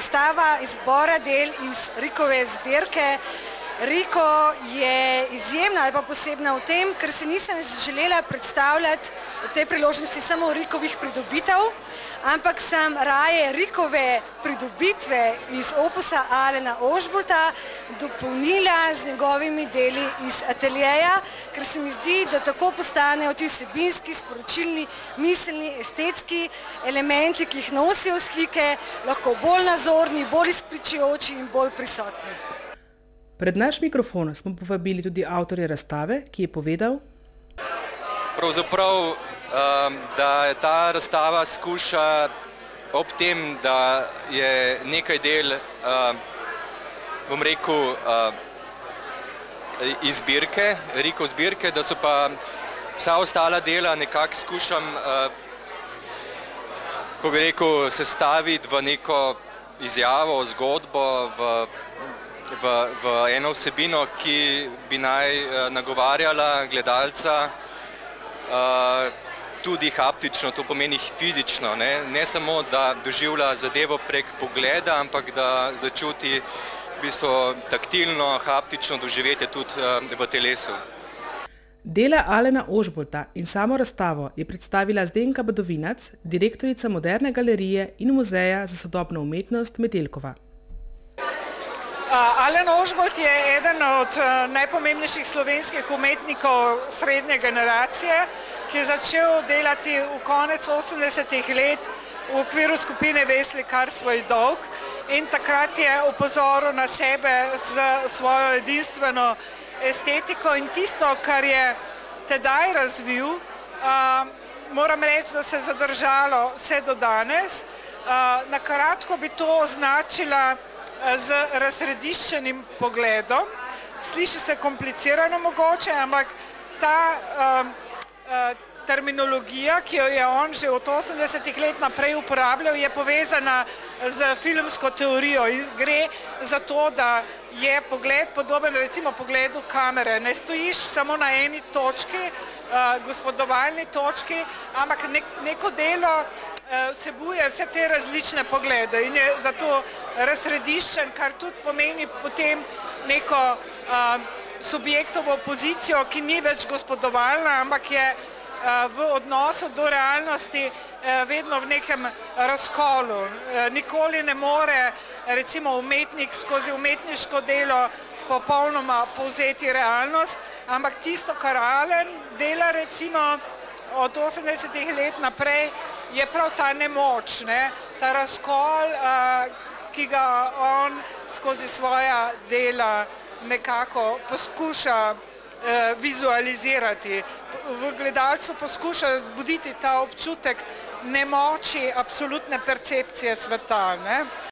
razstava izbora del iz Rikove zbirke. Riko je izjemna ali pa posebna v tem, ker se nisem želela predstavljati v tej priložnosti samo Rikovih pridobitev, ampak sem raje Rikove pridobitve iz opusa Alena Ožbolta dopolnila z njegovimi deli iz ateljeja, ker se mi zdi, da tako postanejo ti vsebinski, sporočilni, miselni, estetski elementi, ki jih nosijo slike, lahko bolj nazorni, bolj izpričujoči in bolj prisotni. Pred naš mikrofon smo povabili tudi avtorja razstave, ki je povedal, pravzaprav, da ta razstava skuša ob tem, da je nekaj del, bom rekel, iz zbirke, Rikov zbirke, da so pa vsa ostala dela nekako skušam, ko bi rekel, sestaviti v neko izjavo, zgodbo, v eno vsebino, ki bi naj nagovarjala gledalca tudi haptično, to pomeni fizično, ne samo, da doživlja zadevo prek pogleda, ampak da začuti v bistvu taktilno, haptično doživetje tudi v telesu. Dela Alena Ožbolta in samo razstavo je predstavila Zdenka Badovinac, direktorica Moderne galerije in Muzeja za sodobno umetnost Metelkova. Alen Ožbolt je eden od najpomembnejših slovenskih umetnikov srednje generacije, ki je začel delati v konec 80-ih let v okviru skupine Veslikar svoj dolg in takrat je opozoril na sebe z svojo edinstveno estetiko in tisto, kar je tedaj razvil, moram reči, da se je zadržalo vse do danes. Na kratko bi to označila z razsrediščenim pogledom. Sliši se komplicirano mogoče, ampak ta terminologija, ki jo je on že od 80-ih let naprej uporabljal, je povezana z filmsko teorijo in gre za to, da je pogled podoben recimo pogledu kamere. Ne stojiš samo na eni točki, gospodovalni točki, ampak neko delo vsebuje vse te različne poglede in je zato razsrediščen, kar tudi pomeni potem neko subjektovo pozicijo, ki ni več gospodovalna, ampak je v odnosu do realnosti vedno v nekem razkolu. Nikoli ne more recimo umetnik skozi umetniško delo popolnoma povzeti realnost, ampak tisto, kar Alen dela recimo od 80-ih let naprej, je prav ta nemoč, ta razkol, ki ga on skozi svoja dela nekako poskuša vizualizirati. V gledalcu poskuša zbuditi ta občutek nemoči, absolutne percepcije sveta.